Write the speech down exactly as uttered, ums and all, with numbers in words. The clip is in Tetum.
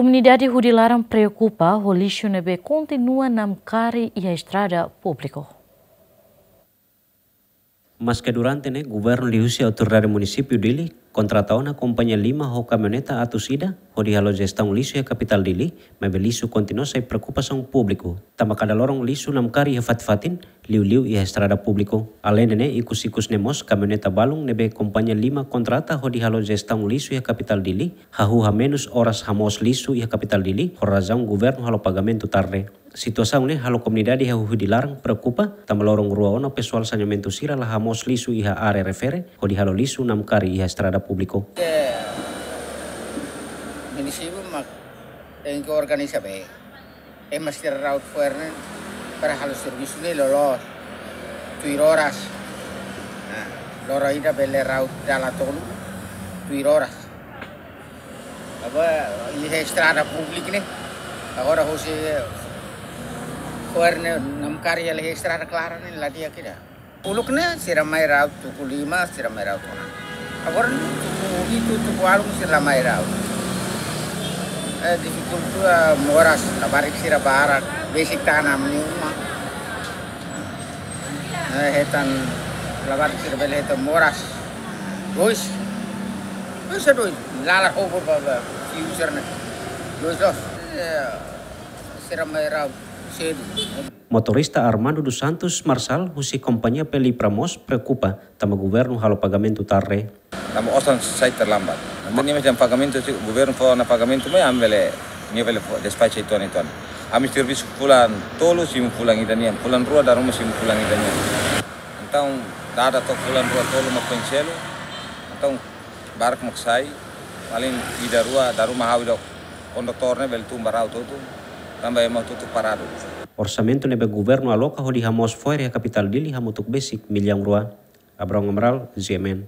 Komunidade Hudilaran preokupa ho lixu ne'ebé kontinua namkari iha estrada públiku. Maske durante ne'e, governu liuhusi autoridade munisípiu Dili kontrata ona kompañia lima ho kamioneta atus ida, hodi halo jestaun lixu iha kapitál Dili, maibé lixu kontinua sai preokupasaun públiku. Tanba kada loron lixu namkari iha fatin-fatin, liuliu iha estrada públiku. Aleinde ne'e, ikus-ikus ne'e mós kamioneta balun ne'ebé kompañia lima kontrata hodi halo jestaun lixu iha kapitál Dili, hahú hamenus oras hamoos lixu iha kapitál Dili, ho razaun governu halo pagamentu tarde. Situasaun ne'e halo komunidade iha Hudilaran preokupa, tanba loron rua ona pesoál saneamentu sira la hamoos lixu iha área refere, hodi halo lixu namkari iha estrada públiku. Ke munisípiu mak tenke organiza bee. Ema sira rauta fo'er ne'e para halo servisu ne'e loloos. Tuir oras. Nah, loron ida bele rauta dala tolu. Tuir oras. Agora, iha estrada públiku ne'e. Agora, husi fo'er ne'e namkari iha estrada klaran ne'e la di'ak ida. Uluk ne'e sira mai rauta tuku lima, sira mai rauta ona. Agora ne'e tuku hitu, tuku ualu sira la mai rauta. Eh, difikulta moras, labarik sira barak, besik tanam nia uma. Eh, hetan labarik sira bele hetan moras. Dois. Dois é dois. Lalar hobor ba, ba, fiu sira ne'e. Dois loos. Eh, sira mai rauta sedu. Motorista Armando dos Santos Marçal, husi kompañia Pelipra mós preokupa, tanba governu halo pagamentu tarde. Tanba osan sai terlambat. Entaun nia mesti pagamentu, se governu fó ona pagamentu mai, ami bele, nia bele fó, despacha uitoan-uitoan. Ami servisu fulan tolu, simu fulan ida nian, fulan rua dala ruma simu fulan ida nian. Entaun, dada to'o fulan rua tolu mak foin selu. Entaun, barak mak sai, paling ida rua, dala ruma ha'u ida ho kondutór ne'e bele tun ba rauta hotu, tanba ema hotu-hotu paradu. Orsamentu ne'ebé governu aloka hodi hamoos fo'er iha kapitál Dili hamutuk besik millaun rua. Abrão Amaral, G M N.